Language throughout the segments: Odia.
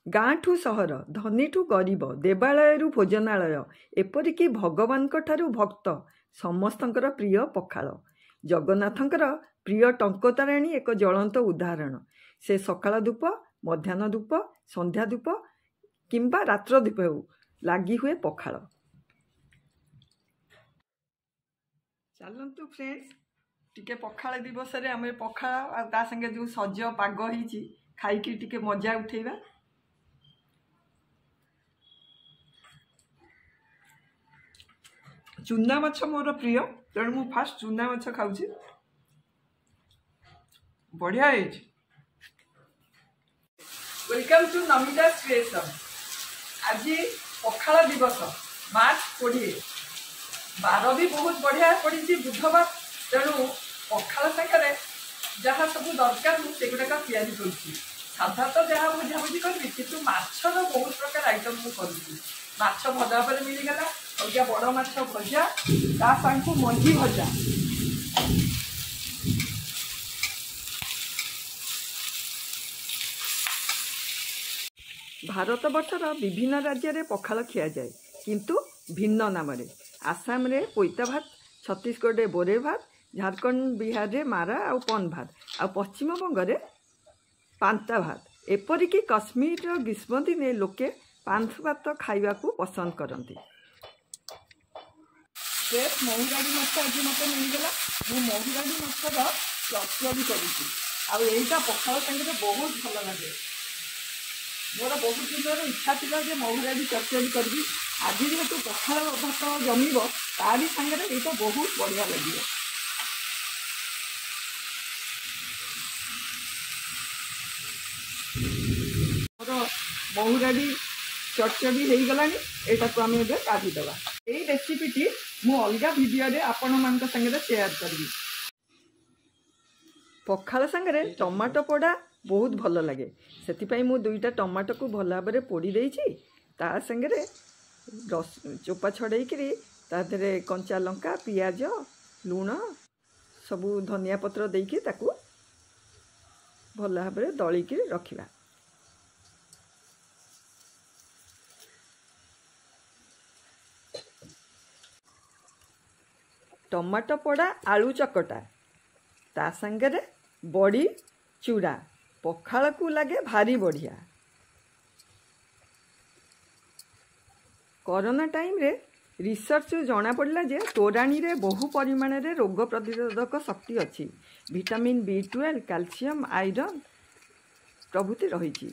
ଗାଁଠୁ ସହର, ଧନୀଠୁ ଗରିବ, ଦେବାଳୟରୁ ଭୋଜନାଳୟ, ଏପରିକି ଭଗବାନଙ୍କ ଠାରୁ ଭକ୍ତ ସମସ୍ତଙ୍କର ପ୍ରିୟ ପଖାଳ। ଜଗନ୍ନାଥଙ୍କର ପ୍ରିୟ ଟଙ୍କତୋରାଣୀ ଏକ ଜ୍ୱଳନ୍ତ ଉଦାହରଣ। ସେ ସକାଳ ଧୂପ, ମଧ୍ୟାହ୍ନ ଧୂପ, ସନ୍ଧ୍ୟା ଧୂପ କିମ୍ବା ରାତ୍ର ଧୂପ ହେଉ, ଲାଗି ହୁଏ ପଖାଳ। ଚାଲନ୍ତୁ ଫ୍ରେଣ୍ଡସ୍, ଟିକେ ପଖାଳ ଦିବସରେ ଆମେ ପଖାଳ ଆଉ ତା ସାଙ୍ଗେ ଯେଉଁ ସଜ ପାଗ ହେଇଛି ଖାଇକି ଟିକେ ମଜା ଉଠେଇବା। ଚୁନା ମାଛ ମୋର ପ୍ରିୟ, ତେଣୁ ମୁଁ ଫାଷ୍ଟ ଚୁନା ମାଛ ଖାଉଛି। ବଢ଼ିଆ ହେଇଛି। Welcome to Namita's creation. ଆଜି ପଖାଳ ଦିବସ, ମାର୍ଚ୍ଚ 20। ବାର ବି ବହୁତ ବଢ଼ିଆ ପଡ଼ିଛି, ବୁଧବାର। ତେଣୁ ପଖାଳ ସାଙ୍ଗରେ ଯାହା ସବୁ ଦରକାର ମୁଁ ସେଗୁଡ଼ାକ ତିଆରି କରୁଛି। ସାଧା ତ ଯାହା ଭଜାଭୁଜି କରିବି, କିନ୍ତୁ ମାଛର ବହୁତ ପ୍ରକାର ଆଇଟମ୍ ମୁଁ କରୁଛି। ମାଛ ଭଜା ଉପରେ ମିଳିଗଲା, ଅଲଗା ବଡ଼ ମାଛ ଭଜା, ତା ସାଙ୍ଗକୁ ମଞ୍ଜି ଭଜା। ଭାରତବର୍ଷର ବିଭିନ୍ନ ରାଜ୍ୟରେ ପଖାଳ ଖିଆଯାଏ, କିନ୍ତୁ ଭିନ୍ନ ନାମରେ। ଆସାମରେ ପୋଇତା ଭାତ, ଛତିଶଗଡ଼ରେ ବୋରେ ଭାତ, ଝାଡ଼ଖଣ୍ଡ ବିହାରରେ ମାରା ଆଉ ପନ୍ ଭାତ, ଆଉ ପଶ୍ଚିମବଙ୍ଗରେ ପାନ୍ତା ଭାତ। ଏପରିକି କଶ୍ମୀରର ଗ୍ରୀଷ୍ମ ଦିନେ ଲୋକେ ପାନ୍ଥ ଭାତ ଖାଇବାକୁ ପସନ୍ଦ କରନ୍ତି। ଫ୍ରେଶ୍ ମହୁରାଡ଼ି ମାଛ ଆଜି ମୋତେ ମିଳିଗଲା। ମୁଁ ମହୁରାଡ଼ି ମାଛର ଚଟଣି କରୁଛି, ଆଉ ଏଇଟା ପଖାଳ ସାଙ୍ଗରେ ବହୁତ ଭଲ ଲାଗେ। ମୋର ବହୁତ ଦିନର ଇଚ୍ଛା ଥିଲା ଯେ ମହୁରାଡ଼ି ଚଟଣି କରିବି। ଆଜି ଯେହେତୁ ପଖାଳ ଭାତ ଜମିବ, ତାରି ସାଙ୍ଗରେ ଏଇଟା ବହୁତ ବଢ଼ିଆ ଲାଗିବ। ମୋର ମହୁରାଡ଼ି ଚଟଚଡ଼ି ହେଇଗଲାଣି, ଏଇଟାକୁ ଆମେ ଏବେ କାଢ଼ିଦେବା। ଏଇ ରେସିପିଟି ମୁଁ ଅଲଗା ଭିଡ଼ିଓରେ ଆପଣମାନଙ୍କ ସାଙ୍ଗରେ ସେୟାର କରିବି। ପଖାଳ ସାଙ୍ଗରେ ଟମାଟୋ ପୋଡ଼ା ବହୁତ ଭଲ ଲାଗେ, ସେଥିପାଇଁ ମୁଁ 2ଟା ଟମାଟୋକୁ ଭଲ ଭାବରେ ପୋଡ଼ି ଦେଇଛି। ତା ସାଙ୍ଗରେ ଚୋପା ଛଡ଼େଇକିରି ତା ଦେହରେ କଞ୍ଚା ଲଙ୍କା, ପିଆଜ, ଲୁଣ, ସବୁ ଧନିଆ ପତ୍ର ଦେଇକି ତାକୁ ଭଲ ଭାବରେ ଦଳିକିରି ରଖିବା। ଟମାଟୋ ପୋଡ଼ା, ଆଳୁ ଚକଟା, ତା ସାଙ୍ଗରେ ବଡ଼ି ଚୁରା ପଖାଳକୁ ଲାଗେ ଭାରି ବଢ଼ିଆ। କରୋନା ଟାଇମ୍ରେ ରିସର୍ଚ୍ଚରୁ ଜଣାପଡ଼ିଲା ଯେ ତୋରାଣୀରେ ବହୁ ପରିମାଣରେ ରୋଗ ପ୍ରତିରୋଧକ ଶକ୍ତି ଅଛି। ଭିଟାମିନ୍ ବି12, କ୍ୟାଲସିୟମ୍, ଆଇରନ୍ ପ୍ରଭୃତି ରହିଛି।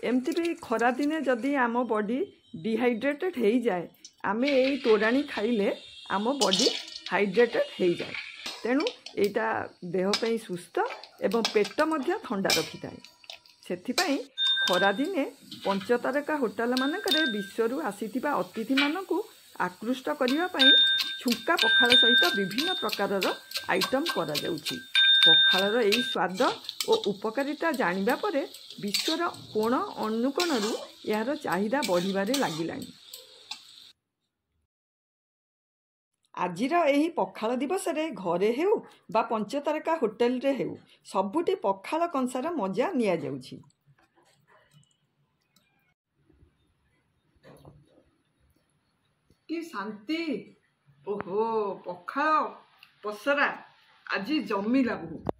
ଏମିତି ବି ଖରାଦିନେ ଯଦି ଆମ ବଡ଼ି ଡିହାଇଡ୍ରେଟେଡ଼୍ ହେଇଯାଏ, ଆମେ ଏଇ ତୋରାଣୀ ଖାଇଲେ ଆମ ବଡ଼ି ହାଇଡ୍ରେଟେଡ଼୍ ହେଇଯାଏ। ତେଣୁ ଏଇଟା ଦେହ ପାଇଁ ସୁସ୍ଥ ଏବଂ ପେଟ ମଧ୍ୟ ଥଣ୍ଡା ରଖିଥାଏ। ସେଥିପାଇଁ ଖରାଦିନେ ପଞ୍ଚତାରକା ହୋଟେଲମାନଙ୍କରେ ବିଶ୍ୱରୁ ଆସିଥିବା ଅତିଥିମାନଙ୍କୁ ଆକୃଷ୍ଟ କରିବା ପାଇଁ ଛୁଙ୍କା ପଖାଳ ସହିତ ବିଭିନ୍ନ ପ୍ରକାରର ଆଇଟମ୍ କରାଯାଉଛି। ପଖାଳର ଏଇ ସ୍ୱାଦ ଓ ଉପକାରିତା ଜାଣିବା ପରେ ବିଶ୍ୱର କୋଣ ଅନୁକୋଣରୁ ଏହାର ଚାହିଦା ବଢ଼ିବାରେ ଲାଗିଲାଣି। ଆଜିର ଏହି ପଖାଳ ଦିବସରେ ଘରେ ହେଉ ବା ପଞ୍ଚତାରକା ହୋଟେଲରେ ହେଉ, ସବୁଠି ପଖାଳ କଂସାର ମଜା ନିଆଯାଉଛି। କି ଶାନ୍ତି! ଓହୋ, ପଖାଳ ପସରା ଆଜି ଜମିଲା ବହୁତ।